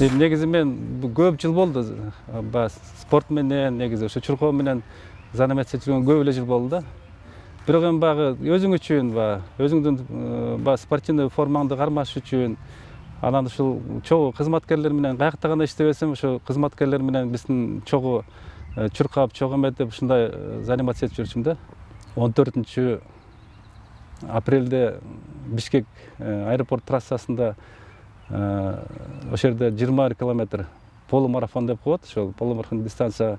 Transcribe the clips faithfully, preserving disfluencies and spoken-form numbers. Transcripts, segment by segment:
Негизи мен көп жыл болду спорт менен, негизи ошо чуркоо менен заниматься жүргөн көп эле жыл болду да. Бирок эми баягы өзүң үчүн, өзүңдүн баягы спортивный формаңды кармаш үчүн, анан ушул чогуу кызматкерлер менен каякта гана иштебесем, ошо кызматкерлер менен биздин чогуу чуркап, чогуу эметип ушундай заниматься этип жүрчүм да. он төртүнчү апрелде Бишкек аэропорт трассасында ошол жерде жыйырма бир километр полумарафон деп коет, ошол полумарафон дистанция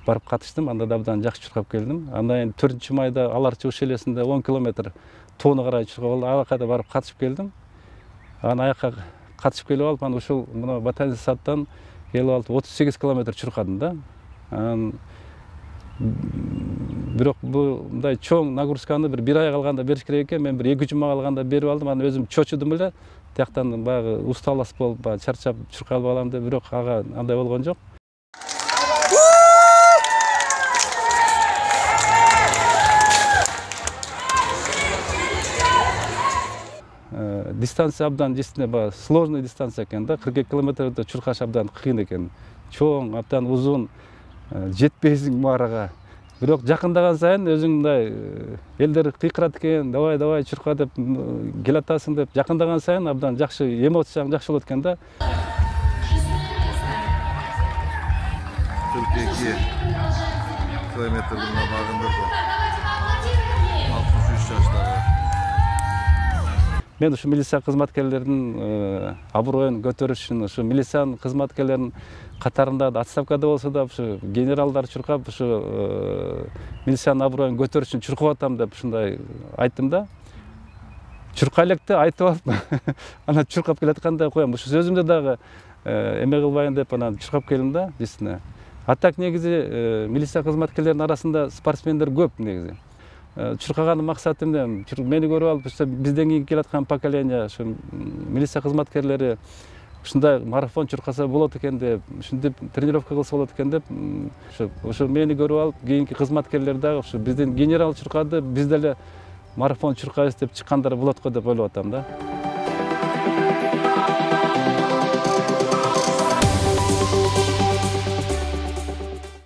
барып катыштым, анда да абдан жакшы чуркап келдим. Андан кийин төртүнчү майда Алар чыгыш элесинде он километр тоону карай чуркап алып, аяка да барып катышып келдим. Анан аяка катышып келип алып, анан ушул мына Батайский садтан келип алып отуз сегиз километр чуркадым да. Анан бирок мындай чоң нагрузканы бир бир ай калганда бериш керек экен, мен бир эки жума калганда берип алдым. Анан өзүм чочудум эле, тияктан баягы усталость болуп, баягы чарчап чуркалып алам деп, бирок ага андай болгон жок. Дистанция абдан действительно баягы сложный дистанция экен да, кырк эки километрди чуркаш абдан кыйын экен. Чоң, абдан узун, жетпейсиң маарага. Бирок жакындаган сайын өзүң мындай элдер кыйкырат экен, давай давай чурка деп келатасың деп, жакындаган сайын абдан жакшы эмоцияң жакшы болот экен да. кырк эки километрди багындырдым. алтымыш үч жаштагы. Мен ушу милиция кызматкерлеринин аброюн көтөрүш үчүн, ушу милициянын кызматкерлеринин катарында отставкада болсо да, ушу генералдар чуркап, ушу милициянын аброюн көтөрүш үчүн чуркап атам деп ушундай айттым да. Чуркай электе айтып алып, анан чуркап келатканда коем. Ушу сөзүмдү дагы эме кылбайын деп анан чуркап келдим да, действительно. А так негизи милиция кызматкерлеринин арасында спортсмендер көп негизи. Чуркаганын максаты эмне? Мени көрүп алып, бизден кийин келаткан поколение, ушу милиция кызматкерлери ушундай марафон чуркаса болот экен деп, ушинтип тренировка кылса болот экен деп, ошо мени көрүп алып, кийинки кызматкерлер дагы ушу биздин генерал чуркады, биз деле марафон чуркайбыз деп чыккандар болот го деп ойлоп атам да.